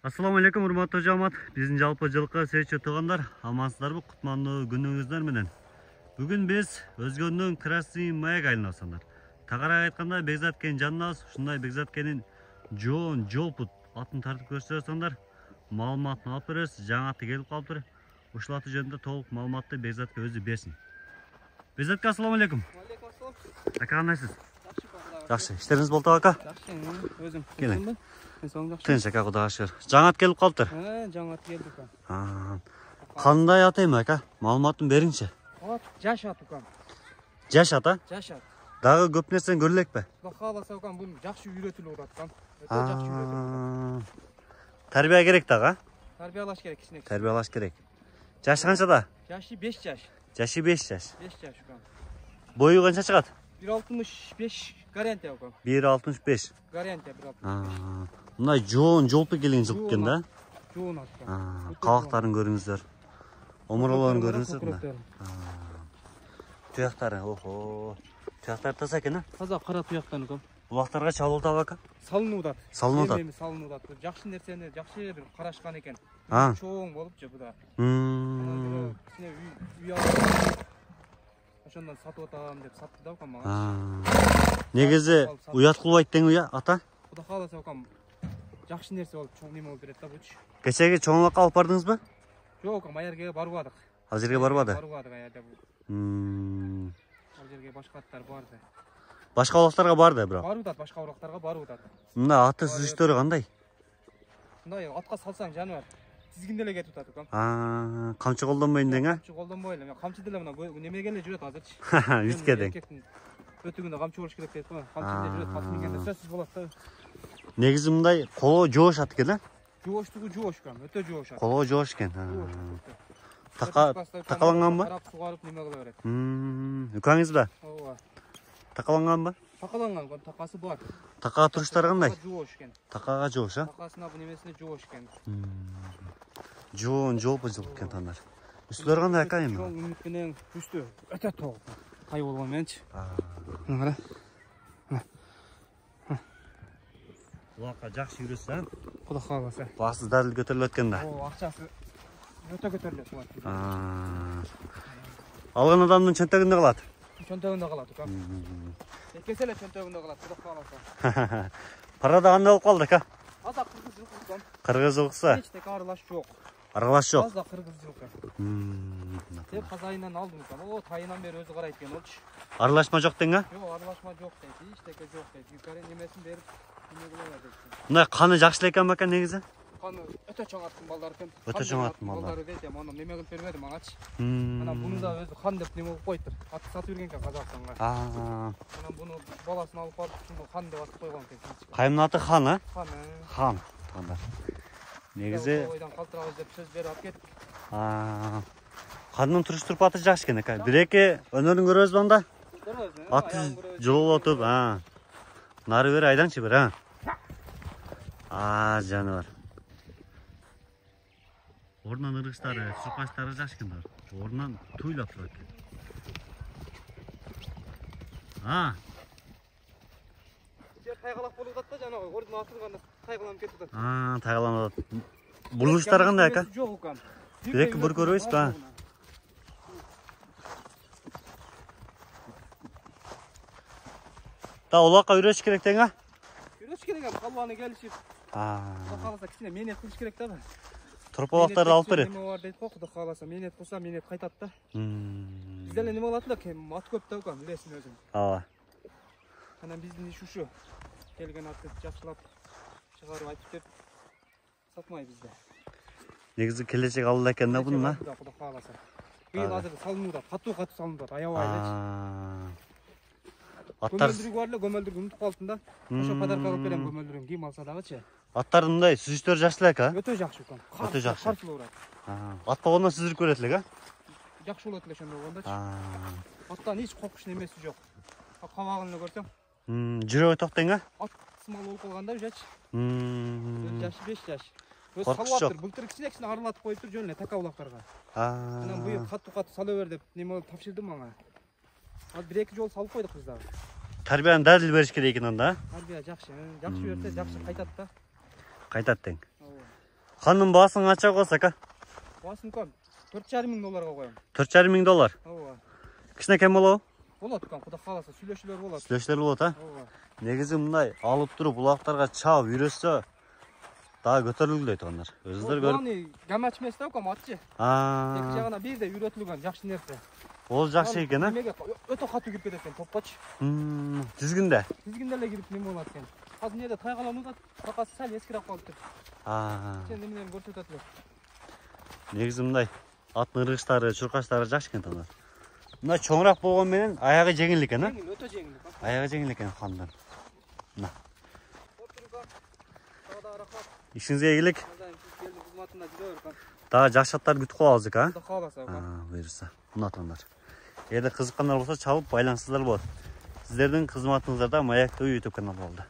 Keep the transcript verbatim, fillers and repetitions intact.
Assalamu alaikum урматтуу жамаат. Биздин жалпы жылкы сейчи туугандар, амансыздарбы? Кутмандуу күнүңүздөр менен. Бүгүн биз Өзгөндүн Красный Маяк айланасындар. Тагыраак айтканда Бекзат Кенин жаныбыз. Ушундай Бекзат Кенин жоон жолпут атын тартып көрсөтсөңдөр, маалыматын алып беребиз. Жаңаты келип калыптыр. Ушул аты жөнүндө толук маалыматты Бекзатка өзү берсин. Бекзатка ассаламу алейкум. Алейкум ассалам. Ака кандайсыз? Жакшы. Иштериңиз болду ака? Жакшы, өзүм. Келиң. Жакшы. Тынч ака, Кудайга шүгүр. Жаңат келип калыптыр. Э, жаңат келди ака. Кандай ат эми ака? Маалыматын бериңчи. Ат жаш ат ака. Жаш ата? Жаш ат. Дагы көп нерсени көрө элекпи? Кудай кааласа ака, бул жакшы үйрөтүлүп аткан. Өтө жакшы үйрөтүлүп. Тарбия керек дагы? Тарбиялаш керек кичине. Тарбиялаш керек. Жашы канчада? Жашы беш жаш. Жашы беш жаш. беш жаш ака. Бою канча чыгат? бир алтымыш беш гарантия ака. бир алтымыш беш. Гарантия бир алтымыш беш. Мындай жоон жолпу келген жылкы экен да? Жоон ака. Кабактарын көрүңүздөр. Омуролорун көрүңүздөр. Туяктары, охо. Туяктары таза экен, а? Таза кара туяктан ака. Булактарга чалып атабы ака? Салынып атат. Салынып атат. Эми салынып атат. Жакшы нерсени жакшы бир карашкан экен. Чоң болупчу буда. Мм. Кичине үй алып ошондон сатып атам деп сатты да ака мага. Негизи уят кылбайт дең уя ата? Кудай кааласа акам жакшы нерсе болуп чоң неме болуп берет да бучу. Кечеги чоңлукка алып бардыңызбы? Жок, ма жерге барбадык. Ал жерге барбады? Барбадык аябай. Мм. Ал жерге башка аттар барды. Башка улактарга барды бирок. Барып атат, башка улактарга барып атат. Мында аты сүзүштөрү кандай? Мындай атка салсаң жаныбар тизгинде эле кетип атат акам. Аа, камчы колдонбойн дең, а? Камчы колдонбой эле. Мен камчы деле мына немеге эле жүрөт азырчы. Үткө дең. Өтүгүндө камчы болуш керек дейт го. Камчы деле жүрөт, камчы миңгенде сөзсүз болот да. Негизи мындай коло жоош ат экен, а? Жооштугу жоош экен, өтө жоош ат. Коло жоош экен. Така такаланганбы? Карап сугарып неме кыла берет. Мм, үкаңызбы? Ооба. Такаланганбы? Такаланган, такасы бар. Такага туруштары кандай? Жоош экен. Такага жоош, а? Такасына бу немесине жоош экен. Жоон жолпу жылкы экен тандар. Үстүлөр кандай ака эми? Чоң үмүт менен үстү өтө тоок. Тай болгон менчи. Мына кара. Улакка жакшы жүрөсүң, Кудай кааласа. басы дадыл көтөрүлөт экен да. О, акчасы өтө көтөрүлөт булат. Алган адамдын чөнтөгүндө калат. Чөнтөгүндө калат ака. Экесе эле чөнтөгүндө калат, Кудай кааласа. Парада кандай болуп калды ака? Аза кыргыз жылкы экен. Кыргыз жылкысы? Эч тек аралаш жок. Аралаш жок. Аза кыргыз жылкы. Теп казайынан алдым экен. О, тайынан бери өзү карайт экен болчу. Аралашма жок дең, а? Жок, аралашма жок дейт. Эч теке жок дейт. Юкары немесин берип, неме кыла берет. Мындай каны жакшы эле экен бака негизи? Каны өтө чоң аттын балдары экен. Өтө чоң аттын балдары дейт, аны неме кылып бербеди магачы. Анан буну да өзү хан деп неме кылып коюптур. Атты сатып берген экен Казакстанга. Анан буну баласын алып барып, ушуну хан деп атып койгон экен. Кайымдын аты хан, а? Хан. Хан. Тандар. Негизи ойдан калтырабыз деп сөз берип алып кеттик. Хандын туруш турпаты жакшы экен ака. Бир-эки өнөрүн көрөбүзбү анда? Аты жололотуп, а. Нары бери айдаңчы бир, а. А, жаныбар. Ордунан ыргычтары, суркачтары жакшы экен. Ордунан туйлап турат экен. А. Жер тайгалак болуп атат да, жанагы ордун атылганда тайгаланып кетип атат. А, тайгаланып атат. Бурулуштары кандай ака? Жок ака. Бир-эки бүр көрөбүзбү, а? Та улакка үйрөтүш керек дең, а? Үйрөтүш керек, калбаны келишип. А. Кудай кааласа кичине менет кылыш керек да. Турпалактарды алып берет. Неме бар дейт го, Кудай кааласа менет кылса менет кайтат да. Мм. Бизде эле неме кылат да, кем ат көп да ака, билесиң өзүң. Ооба. Анан биздин иш ушу. Келген атты жакшылап чыгарып айтып деп сатмай бизде. Негизи келечек алда экен да бунун, а? Кудай кааласа. Быйыл азыр салынууда, катуу-катуу салынып атат, аябай элечи. Аттар көмөлдүрүгү бар эле, көмөлдүрүгү унутуп калдым да. Ошо подарка кылып берем көмөлдүрүгүн, ким алса дагычы. Аттардын мындай сүзүштөрү жакшы эле экен, а? Өтө жакшы экен. Өтө жакшы. Карсылуу урат. Ат болгондон сүзүрүп көрөт элек, а? Жакшы болот эле ошондой болгондочу. Аттан эч коркуч немеси жок. Кабагын эле көрсөң. Жүрөгү ток дең, а? Ат сымал болуп калганда үжачы. Мм. Жашы беш жаш. Өз Коркуч салаттыр, былтыр кичине-кичине аралатып коюптур жөн эле така улактарга. Анан быйыл катуу-катуу сала бер деп неме тапшырды мага. Ал бир-эки жол салып койдук биз дагы. Тарбияны дадыл бериш керек экен анда. Тарбия жакшы, жакшы берсе жакшы кайтат да. Кайтат дең. Канын баасын канча коесуз ака? Баасын төрт жарым миң долларга коем. төрт жарым миң доллар. Ооба. Кичинекей болобу? Болот экен, Кудай кааласа, сүйлөшүүлөр болот. Сүйлөшүүлөр болот, а? Ооба. Негизи мындай алып туруп булактарга чаап үйрөтсө дагы көтөрүлгүлөй туугандар. Өзүңүздөр көрүп. Аны гамач эмес да экен, атчы. Аа. Эки жагына бирдей үйрөтүлгөн жакшы нерсе. Ол жакшы экен, а? Эмеге өтө катуу кирип кетет экен, топкоч. Мм, тизгинде. Тизгинде эле кирип неме болот экен. Азыр жерде тайгаланып атат, бакасы сал эскирип калыптыр. Аа. Сен эмнени көрсөтөт эле. Негизи мындай аттын ыргычтары, чуркачтары жакшы экен туугандар. Мына чоңураак болгон менен аягы жеңил экен, а? Жеңил, өтө жеңил. Аягы жеңил экен хандан. Мына. Ишиңизге ийгилик. Дагы жакшы аттарды күтүп калабыз экен, а? Кудай кааласа. Аа, буюрса. Мына туугандар. Эгерде кызыккандар болсо чалып байланышсаңыздар болот. Сиздердин кызматыңыздарда Маек ТВ YouTube каналы болду.